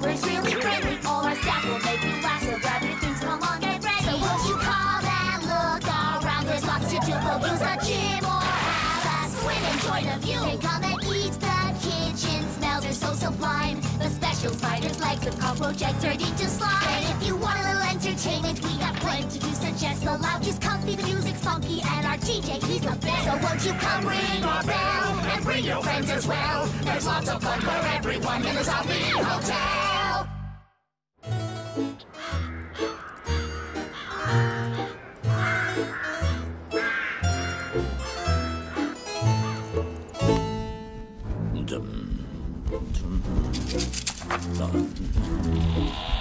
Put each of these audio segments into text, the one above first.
neighbors really friendly. All our staff will make you laugh, so grab your things, come on, get ready. So won't you come and look around? There's lots to do, go use the gym or have a swim. Enjoy the view. Hey, come and eat, the kitchen smells are so sublime. The special spider's legs with cockroach eggs turned into slime. And if you want a little entertainment, we have plenty to suggest. The lounge is comfy, the music's funky, and our DJ, he's the best. So won't you come ring our bell and bring your friends as well? There's lots of fun for everyone in the Zombie Hotel.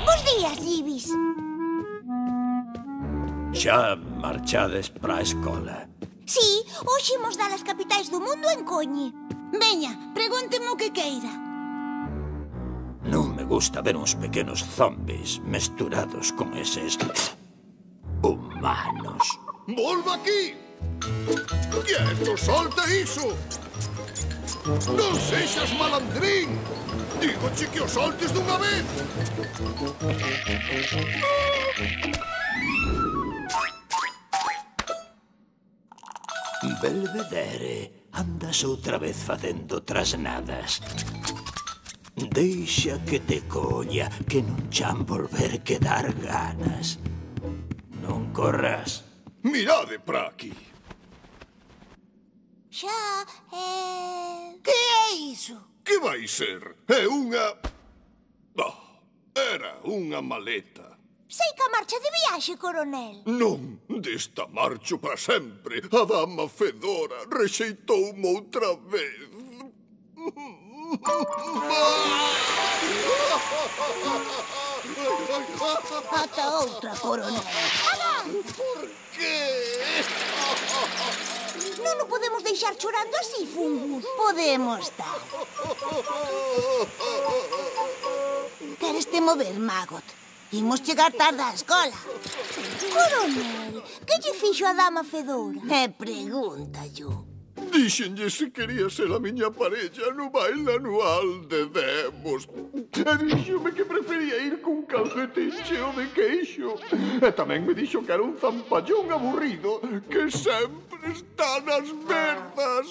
Bos días, Libis. Xa marchades para a escola? Sí, hoxe imos dar as capitais do mundo en coñe. Veña, pregúnteme o que queira. Non me gusta ver uns pequenos zombis mesturados con eses humanos. Volva aquí! Quieto, solta iso! Non sexas malandrín! Dígoche que o soltes dunha vez! Belvedere, andas outra vez facendo trasnadas. Deixa que te colla, que non chan volver que dar ganas. Non corras. Mirade para aquí! Xa, Que é iso? Que vai ser? É unha... era unha maleta. Sei que a marcha de viaxe, coronel. Non, desta marcho para sempre. A dama Fedora rexeitoume outra vez. Ata outra, coronel. Por qué? Non o podemos deixar chorando así, Fungus. Podemos tal. Queres te mover, Maggot? Imos chegar tarde á escola. Coronel, que lle fixo a dama Fedora? Pregunta yo. Díxenlle se quería ser a miña parella no baile anual de Demos. E díxome que prefería ir cun calcetín cheo de queixo. E tamén me dixo que era un zampallón aburrido que sempre está nas verzas.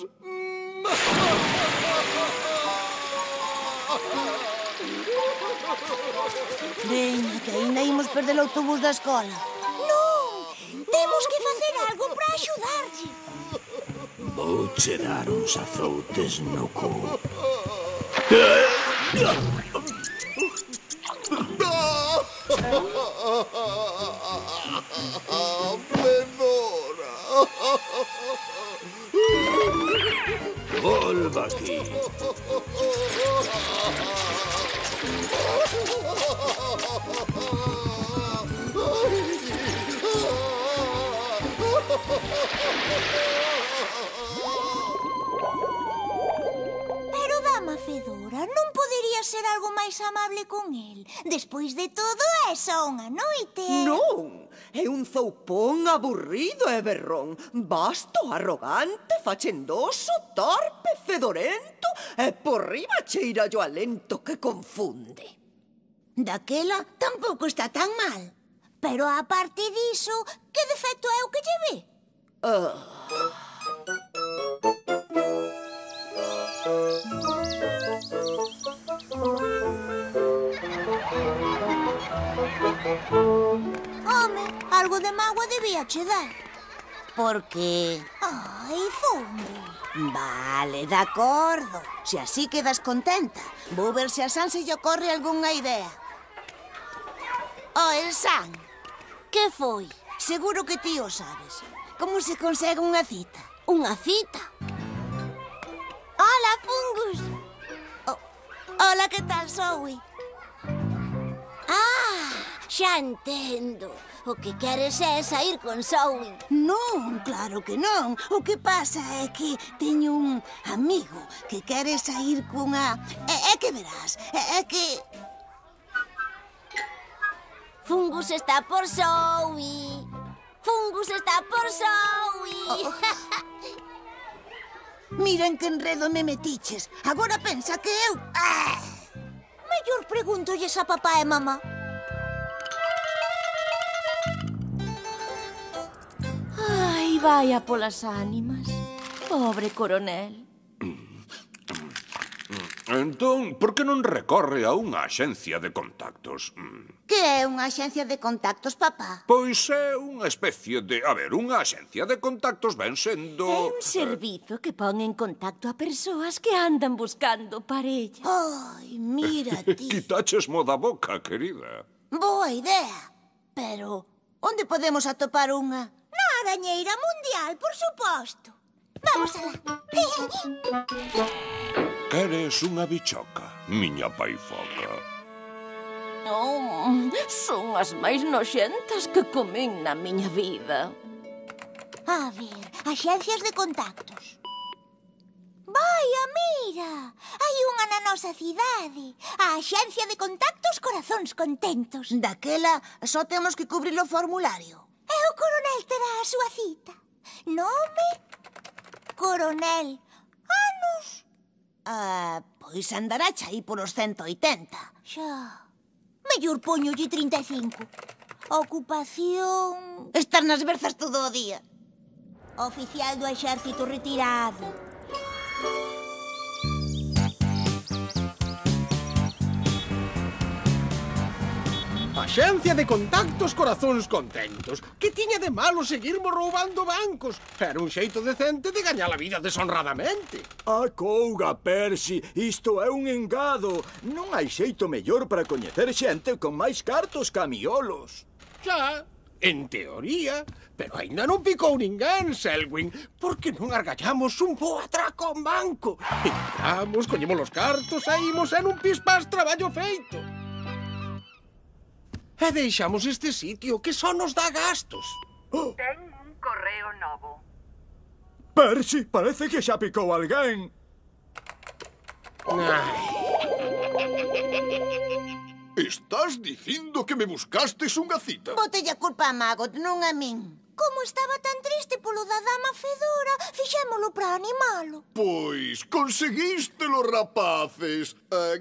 Veña, que ainda imos perder o autobús da escola. Non, temos que facer algo para axudarlle. Vouche dar uns azoutes no cu. Fedora! Volva aquí. Pero, dama Fedora, non podería ser algo máis amable con el? Despois de todo, é só unha noite. Non, é un zoupón aburrido e berrón, vasto, arrogante, fachendoso, torpe, fedorento e por riba cheira o alento que confunde. Daquela tampouco está tan mal. Pero, a parte diso, que defecto é o que lle ve? Home, algo de mágoa debía che dar. Por que? Ai, Fungus. Vale, de acordo. Se así quedas contenta, vou ver se a San se lle ocorre algunha idea. El San, Que foi? seguro que ti o sabes. Como se consegue unha cita? Unha cita? Hola, Fungus. Hola, que tal, Zoe? Xa entendo. O que queres é sair con Zoe. Non, claro que non. O que pasa é que teño un amigo que quere sair cunha... É que verás, é que... Fungus está por Zoe. Fungus está por Zoe. Miren que enredo me metiches. Agora pensa que eu... Me mellor pregúntolles a papá e mamá. Ai, vaya polas ánimas. Pobre coronel. Entón, por que non recorre a unha axencia de contactos? Que é unha axencia de contactos, papá? Pois é unha especie de... A ver, unha axencia de contactos ven sendo... É un servizo que pon en contacto a persoas que andan buscando parella. Ai, mira ti. Quitachesmo da boca, querida. Boa idea. Pero, onde podemos atopar unha? Na arañeira mundial, por suposto. Vamos alá. Eres unha bichoca, miña paifoca. Son as máis noxentas que comín na miña vida. A ver, axencias de contactos. Vaia, mira! Hai unha na nosa cidade. A Axencia de Contactos Corazóns Contentos. Daquela só temos que cubrir o formulario. E o coronel terá a súa cita. Nome? Coronel. Anos? Pois andará aí polos 180. Xa. Mellor poñolle 35. Ocupación... Estar nas berzas todo o día. Oficial do exército retirado. Axencia de Contactos Corazóns Contentos. Que tiña de malo seguirmos roubando bancos? Era un xeito decente de gañar a vida deshonradamente. Acouga, Percy, isto é un engado. Non hai xeito mellor para coñecer xente con máis cartos ca miolos. Xa, en teoría, pero aínda non picou ninguén, Selwyn. Por que non argallamos un bo atraco a un banco? Entramos, coñemos os cartos, saímos en un pispás traballo feito. E deixamos este sitio que só nos dá gastos. Ten un correo novo. Percy, parece que xa picou alguén. Estás dicindo que me buscastes unha cita? Botelle a culpa a Magot, non a min. Como estaba tan triste polo da dama Fedora, fixémolo para animalo. Pois conseguístelo, rapaces.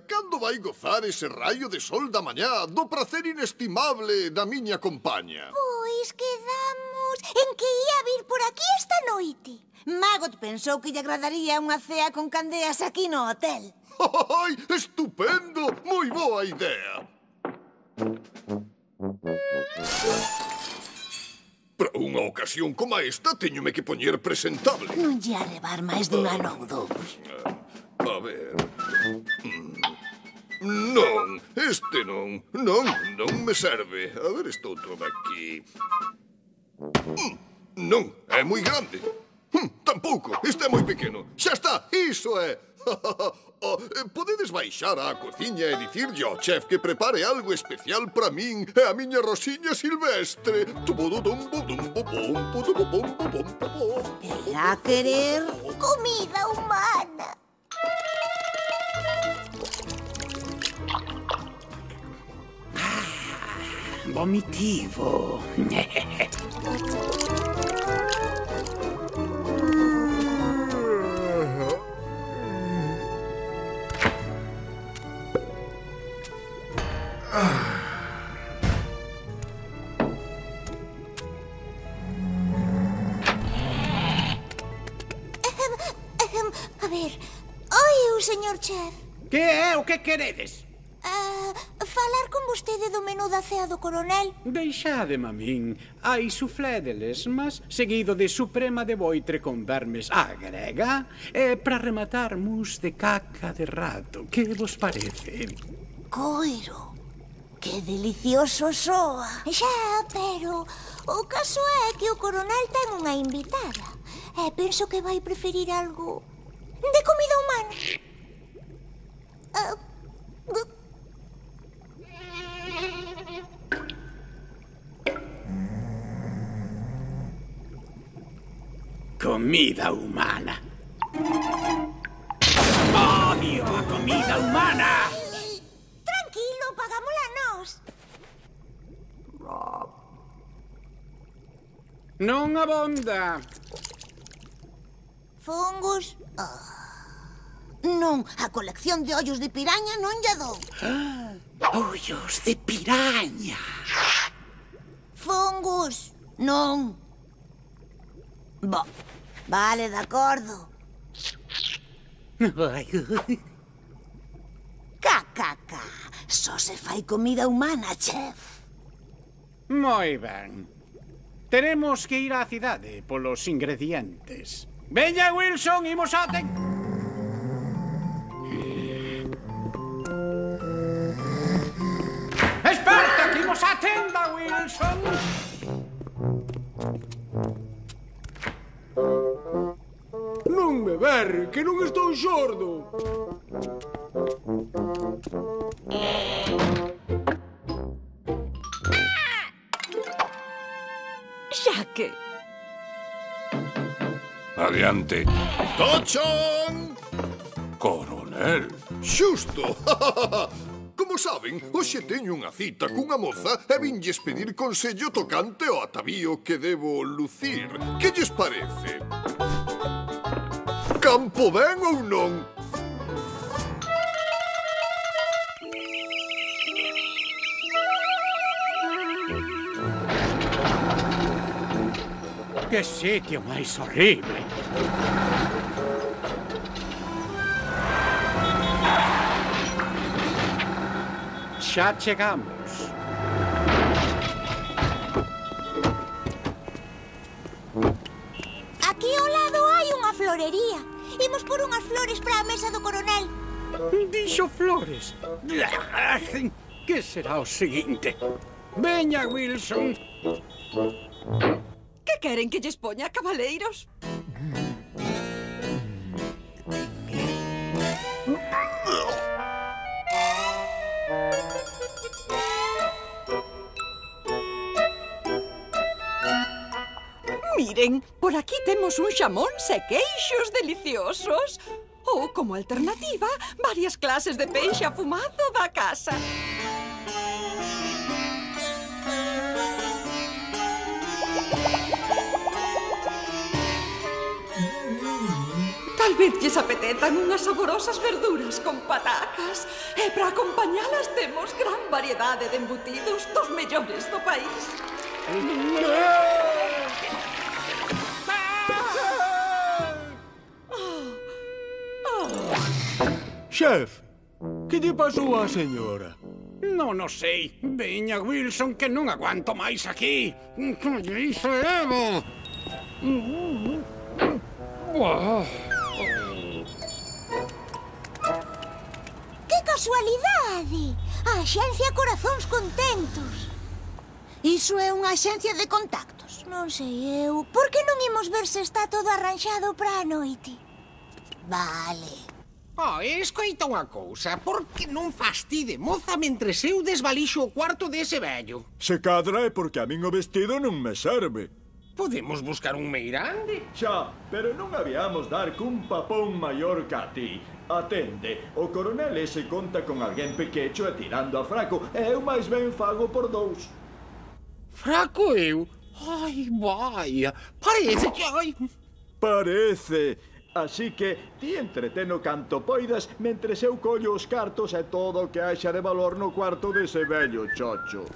Cando vai gozar ese raio de sol da mañá do prazer inestimable da miña compaña? Pois quedamos en que ia vir por aquí esta noite. Magot pensou que lle agradaría unha cea con candeas aquí no hotel. ¡Ay, estupendo! Moi boa idea. Para unha ocasión como esta, teñome que poñer presentable. Non lle a levar máis dun ano ou dous. A ver... Non, este non. Non me serve. A ver, este outro daqui. Non, é moi grande. Tampouco, este é moi pequeno. Xa está, iso é. Podedes baixar á cociña e dicirlle ao chef que prepare algo especial para min e a miña Rosiña Silvestre. Irá querer comida humana. Vomitivo. A ver, oi, señor chef. Que é o que queredes? Falar con vostede do menú da cea do coronel. Deixádeme a min. Hai suflé de lesmas, seguido de suprema de boitre con vermes á grega, e para rematar mousse de caca de rato. Que vos parece? Coiro, que delicioso soa. Xa, pero o caso é que o coronel ten unha invitada. E penso que vai preferir algo de comida humana. Comida humana. ¡Odio a comida humana! Tranquilo, pagámola nós. Non abonda. Fungus. Non, a colección de ollos de piraña non lla dou. Ollos de piraña. Fungus, non. Vale, de acordo. Cacaca, só se fai comida humana, chef. Moi ben. Teremos que ir á cidade polos ingredientes. Veña, Wilson, imos a... Esperta, que imos á tenda, Wilson. Non me berre, que non estou xordo. Xaque. Adiante. Tochon! Coronel. Xusto! Como saben, hoxe teño unha cita cunha moza e vinlles pedir consello tocante ao atavío que debo lucir. Que lles parece? Campo ben ou non? Que sitio máis horrible. Xa chegamos. Aquí ao lado hai unha florería. Imos por unhas flores para a mesa do coronel. Dixo flores. Que será o seguinte? Veña, Wilson. Que queren que lles poña, cabaleiros? Miren, por aquí temos un xamóns e queixos deliciosos. Ou, como alternativa, varias clases de peixe afumado da casa. Tal vez lles apetezan unhas saborosas verduras con patacas. E para acompañalas temos gran variedade de embutidos dos mellores do país. Chef, que lle pasou á señora? Non o sei. Veña, Wilson, que non aguanto máis aquí. Que lle hizo Evo? Que casualidade! A Axencia Corazóns Contentos. Iso é unha axencia de contactos. Non sei eu. Por que non imos ver se está todo arranxado para a noite? Vale. Escoita unha cousa. Por que non fastide, moza, mentres eu desvalixo o cuarto dese vello? Se cadra é porque a min o vestido non me serve. Podemos buscar un meirande? Xa, pero non habíamos dar cun papón maior ca ti. Atende, o coronel ese conta con alguén pequecho e tirando a fraco, e eu máis ben fago por dous. Fraco eu? Ai, vai, parece que... Ai... Parece. Así que ti entreteno canto poidas mentres eu collo os cartos e todo o que haxa de valor no cuarto dese vello chocho.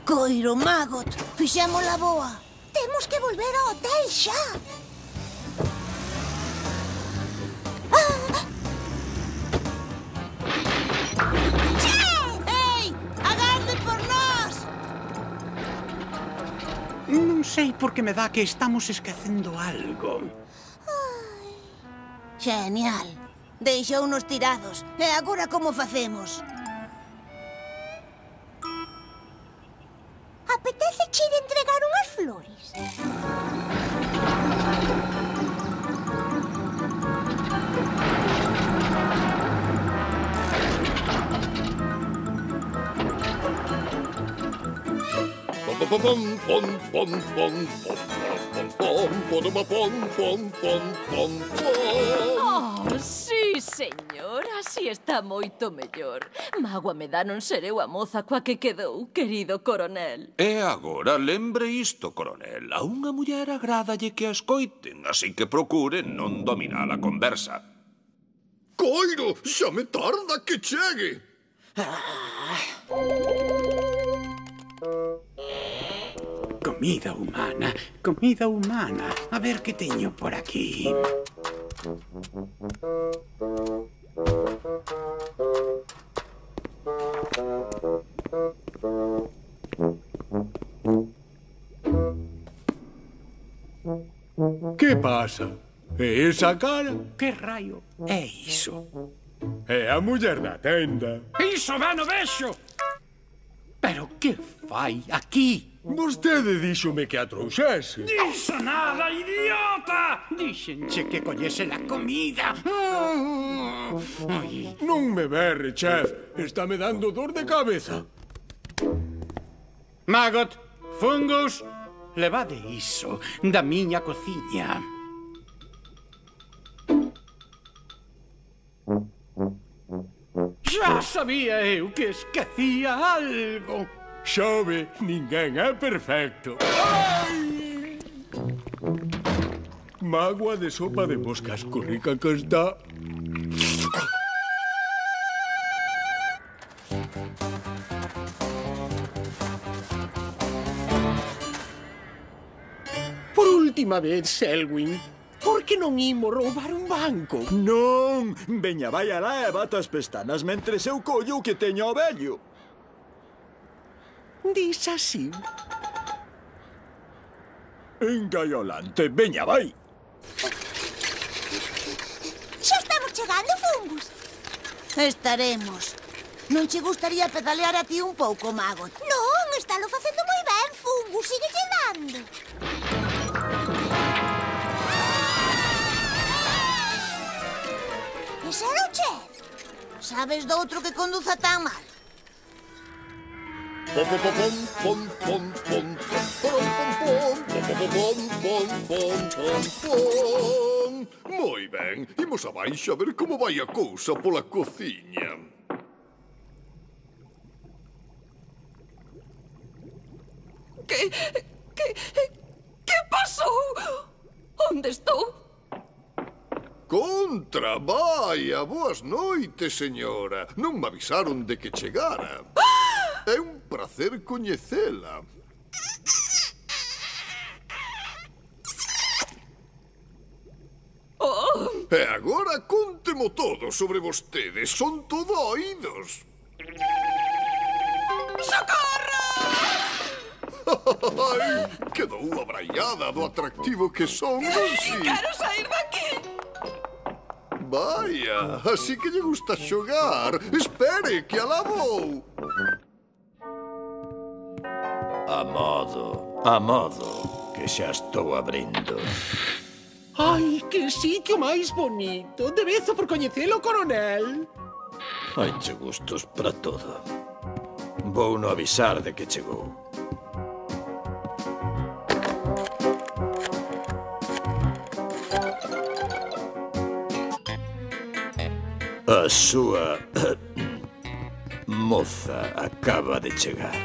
Coiro, Magot, fixémola boa. Temos que volver ao hotel xa. Ei, agarde por nós. Non sei por que me dá que estamos esquecendo algo. Genial. Deixounos tirados. E agora como facemos? Apetece che ir entregar unhas flores? Oh, sí, señora. Así está moito mellor. Mágoa me dá non ser eu a moza coa que quedou, querido coronel. E agora lembre isto, coronel. A unha muller agrádalle que a escoiten, así que procure non dominar a conversa. Coiro, xa me tarda que chegue. Comida humana, comida humana. A ver que teño por aquí. Que pasa? E esa cara? Que raio é iso? É a muller da tenda. Iso ben o vexo! Pero que fai aquí? Vostede díxome que a trouxese. Dixo nada, idiota! Díxenche que collese la comida. Ai. Non me berre, chef. Está me dando dor de cabeza. Maggot, Fungus, levade iso da miña cociña. Xa sabía eu que esquecía algo. Xove, ninguén é perfecto. Ai! Mágoa de sopa de moscas, co rica que está. Por última vez, Selwyn, por que non imo roubar un banco? Non, veña, vai alá e bata as pestanas mentres eu collo o que teño ao vello. Dis así. Engaiolante, veña, vai. Xa estamos chegando, Fungus. Estaremos. Non che gustaría pedalear a ti un pouco, Maggot? Non, estálo facendo moi ben, Fungus. Sigue dando. Ese era o chef. Sabes do outro que conduza tan mal? Pom, pom, pom, pom, pom, pom, pom, pom, pom, pom, pom, pom. Moi ben, imos abaixo a ver como vai a cousa pola cociña. Que pasou? Onde estou? Contra, vaia, boas noites, señora. Non me avisaron de que chegara. É un placer coñecela. E agora contemo todo sobre vostedes. Son todo oídos. Socorro! Ai, quedou abraiada do atractivo que son, non si? Quero sair daqui! Vaya, así que lle gusta xogar. Espere, que alá vou. A modo, que xa estou abrindo. Ai, que sitio máis bonito. Debezo por coñecelo, coronel. Haiche gustos para todo. Vou no avisar de que chegou. A súa moza acaba de chegar.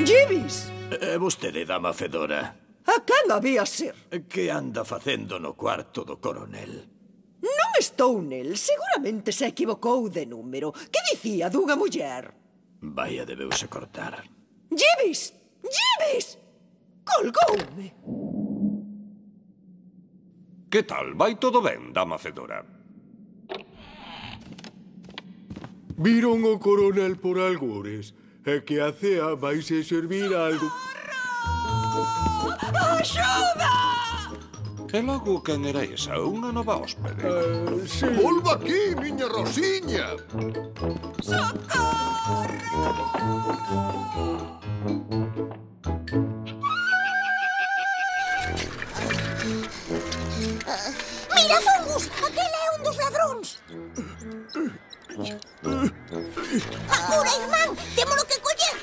Jeeves! É vostede, dama fedora? A quen había ser? Que anda facendo no cuarto do coronel? Non estou nel. Seguramente se equivocou de número. Que dicía dunha muller? Vaya, debeuse cortar. Jeeves! Jeeves! Colgoume. Que tal? Vai todo ben, dama fedora? Viron o coronel por algures. É que a cea vaise servir algo. Axuda! E logo, quen era esa? Unha nova hóspede? Sí. Volva aquí, miña Rosiña. Mira, Fungus, aquel é un dos ladróns. Apura, irmán, témolo que coller.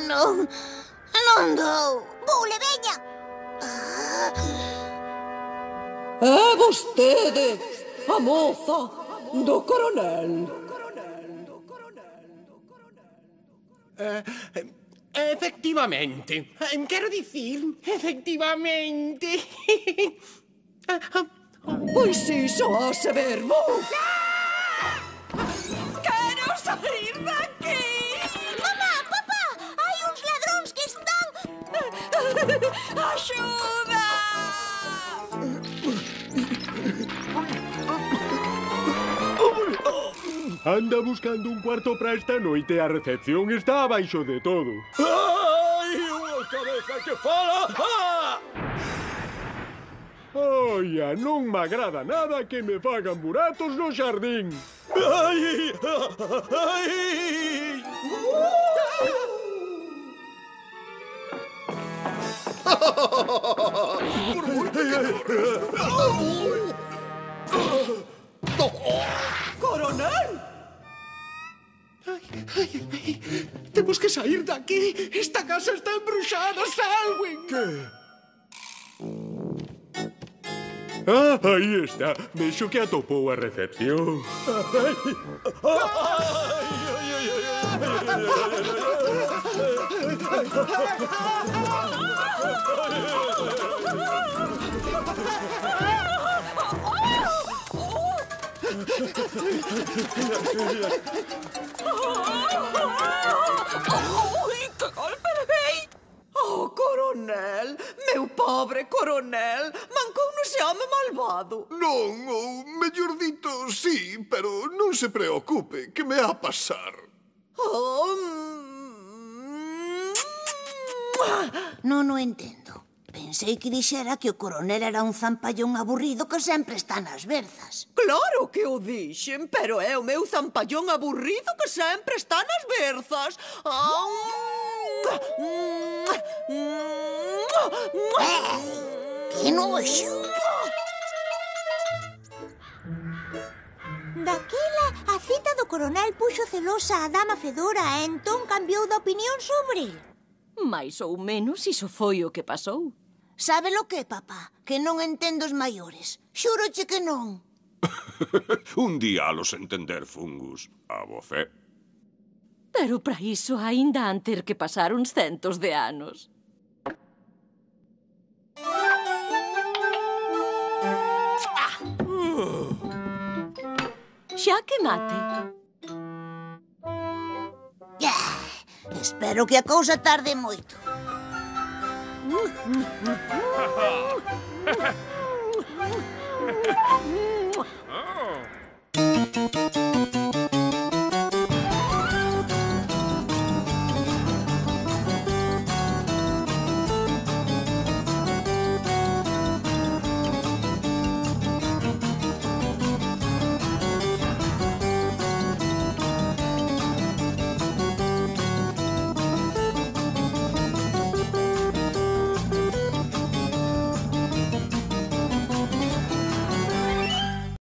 Non dou. Vule, veña. É vostede. a moza do coronel. Efectivamente. Quero dicir, efectivamente. Pois iso hace verbo. Quero sair daqui! Mamá, papá, hai uns ladróns que están... Axuda! Anda buscando un cuarto para esta noite e a recepción está abaixo de todo. Ai, unha cabeza que fala! Ah! Oia, non me agrada nada que me fagan buratos no xardín. Ai! Ai! Coronel! Temos que sair de aquí. Esta casa está embruxada, Selwyn. Que? Ah, aí está. Vexo que atopou a recepción. Que golpe levei! Oh, coronel, meu pobre coronel, mancou no ese home malvado. Non, ou mellor dito, sí, pero non se preocupe, que me ha a pasar. Non o entendo. Pensei que dixera que o coronel era un zampallón aburrido que sempre está nas berzas. Claro que o dixen, pero é o meu zampallón aburrido que sempre está nas berzas. Que noxo! Daquela, a cita do coronel puxo celosa a dama Fedora e entón cambiou de opinión sobre el. Mais ou menos iso foi o que pasou. Sabe lo que, papá? Que non entendo os maiores. Xúroche que non. Un día a los entender, Fungus. A bo fe. Pero para iso aínda han ter que pasar uns centos de anos. Xa que mate. Espero que a cousa tarde moito.